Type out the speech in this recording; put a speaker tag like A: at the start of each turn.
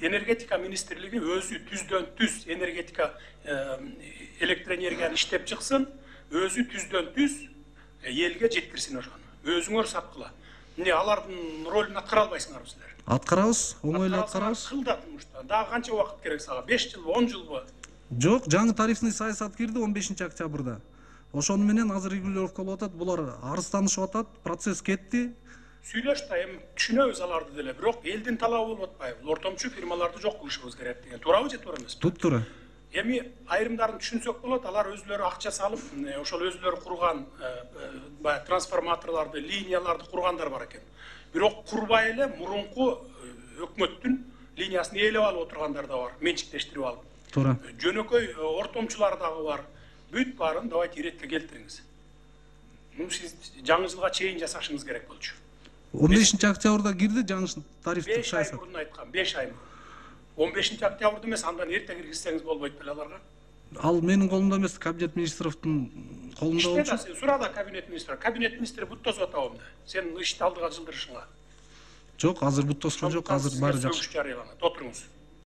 A: энергетика министрлиги өзү түздөн түз энергетика электроэнергияны иштеп чыксын, өзү түздөн түз элге жеткирсин ошону. Өзүңөр саткыла. Эмне алардын ролун аткара албайсыңарбы силер?
B: Аткарабыз, оңойлуу аткарабыз.
A: Кыл да турмушта. Дагы канча убакыт керек сага? 5 жылбы, 10 жылбы?
B: Жок, жаңы тарифный саясат кирди 15 октябрда. Ошону менен азыр регулировка болуп атат, булар арызданышып атат, процесс кетти.
A: Сүйлөш да, эми түшүнөбүз аларды деле, бирок элдин талабы болуп атпайбы? Ортомчу фирмаларды жок кылышыбыз керек деген. Туурабы же туура эмеспи?
B: Туп-туура.
A: Эми айрымдарын түшүнсөк болот, алар өзүлөрү акча салып, ошол өзүлөрү курган баягы трансформаторлорду, линияларды кургандар бар экен. Бирок курбай эле мурунку өкмөттүн линиясын ээлеп алып отургандар да бар, менчиктештирип алып.
B: Туура.
A: Жөнөкөй ортомчулар дагы бар. Бүт баарын давайте иретке келтириңиз. Муну сиз жаңы жылга чейин жасашыңыз керек болчу.
B: 15 октябрда кирди жаңы тарифтик
A: 5 ай
B: саясат.
A: мурун айткам, 5 ай мурун. 15 октябрда эмес, андан эрте киргизсеңиз болбойт беле аларга?
B: Ал менин колумда эмес, кабинет министровдун колунда
A: Иште да,
B: болчу.
A: сен сура да кабинет министри. Кабинет министри бут тосуп атабы эмне? Сен ишти алдыга жылдырышыңа.
B: Жок, азыр бут тоскон жок, азыр баары жакшы.
A: Отуруңуз.